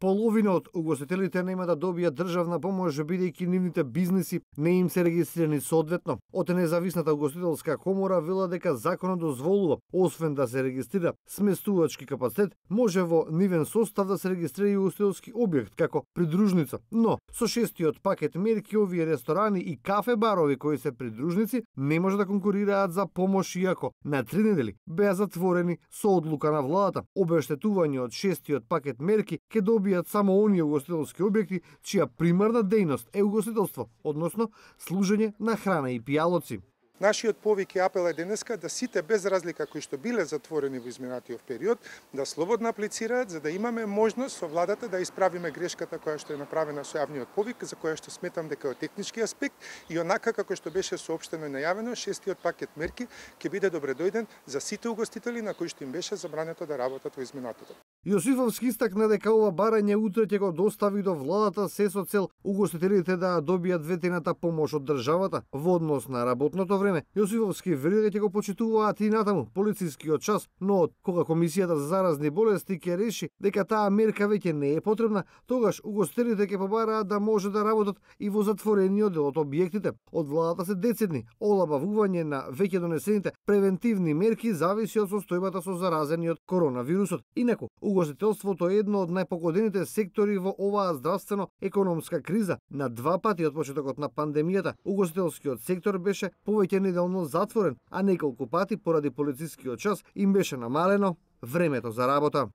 Половина од угостителите нема да добијат државна помош бидејќи нивните бизниси не им се регистрирани соодветно. Од независната угостителска комора вела дека законот дозволува, освен да се регистрира сместувачки капацитет, може во нивен состав да се регистрира и угостителски објект како придружница. Но со шестиот пакет мерки овие ресторани и кафе барови кои се придружници не може да конкурираат за помош иако на 3 недели беа затворени со одлука на владата. Обештетување од шестиот пакет мерки ќе добијат само оние угостителски објекти чија примарна дејност е угостителство, односно служење на храна и пијалоци. Нашиот повик и апел е денеска да сите без разлика кои што биле затворени во изминатиот период да слободно аплицираат за да имаме можност со владата да исправиме грешката која што е направена со јавниот повик, за која што сметам дека од технички аспект и онака како што беше соопштено и најавено, шестиот пакет мерки ќе биде добредојден за сите угостители на кои што им беше забрането да работат во изминатото. Јосифовски истакна дека ова барање утре ќе го достави до владата се со цел угостителите да добијат ветената помош од државата во однос на работното време. Јосифовски вели дека ќе го почитуваат и натаму полицискиот час, но од кога Комисијата за заразни болести ќе реши дека таа мерка веќе не е потребна, тогаш угостителите ќе побараат да може да работат и во затворениот дел од објектите. Од владата се децидни олабавување на веќе донесените превентивни мерки зависи од состојбата со заразениот коронавирусот. Инаку, угостителството е едно од најпогодените сектори во оваа здравствено-економска криза. На 2 пати од почетокот на пандемијата, угостителскиот сектор беше повеќе неделно затворен, а неколку пати поради полицискиот час им беше намалено времето за работа.